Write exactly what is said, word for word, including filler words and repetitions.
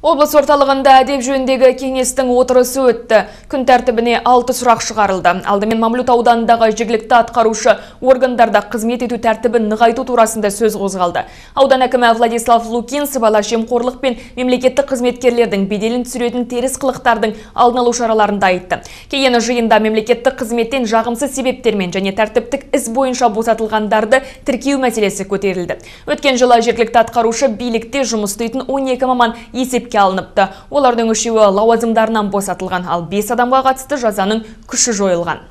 Облыс орталығында әдеп жөніндегі кеңестің отырысы өтті. Күн тәртібіне алты сұрақ шығарылды. Алдымен Мамлют ауданындағы жергілікті атқарушы органдарда қызмет ету тәртібін нығайту турасында сөз қозғалды. Аудан әкімі Владислав Лукин сыбайлас жемқорлық пен мемлекеттік қызметкерлердің беделін түсіретін теріс қылықтардың алдын алу шараларында айтты. Кейін жиында мемлекеттік қызметтен жағымсыз себептермен және тәртіптік іс бойынша босатылғандарды тіркеу мәселесі көтерілді. Өткен жылы жергілікті атқарушы билікте жұмыс істейтін он екі маман есепке алыныпты. Олардың үшеуі лауазымдарынан босатылған, ал бес адамға қатысты жазаның күші жойылған.